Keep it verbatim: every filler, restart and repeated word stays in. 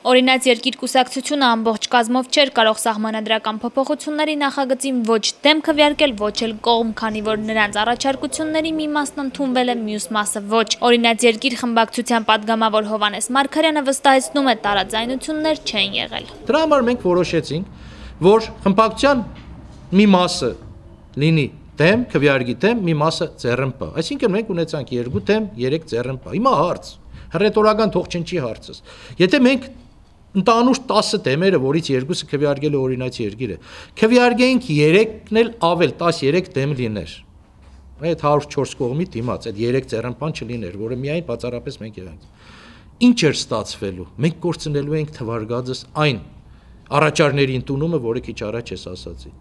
Օրինաց երկիր կուսակցությունը ամբողջ կազմով չէր կարող սահմանադրական փոփոխությունների նախագծին ոչ դեմ քվեարկել, ոչ էլ կողմ, քանի որ նրանց առաջարկությունների մի մասն ընդունվել է, մյուս մասը ոչ։ Օրինաց երկիր խմբակցության падգամավոր Հովհաննես Մարգարյանը վստահեցնում է, տարաձայնություններ չեն եղել։ Դրա համար մենք որոշեցինք, որ խմբակցության մի մասը լինի դեմ, քվեարկի դեմ, մի մասը ձեռնպա։ Այսինքն մենք ունեցանք երկու դեմ, երեք ձեռնպա։ Հիմա հարց, հռետորական թող չնչի հարցս։ Եթե մենք Ընդանուր տասը դեմերը, որից երկուսը քվեարկել է օրինաց երկիրը, քվեարկեինք երեքն էլ ավել, տասներեք դեմ լիներ։ Այդ հարյուր ու չորս կողմի դիմաց, այդ երեք ձեռնպան չլիներ, որը միայն բացառապես մենք եղանք։ Ինչ էր ստացվելու։ Մենք կորցնելու ենք թվարկածս այն առաջարների ընդունումը, որը քիչ առաջ ես ասացի։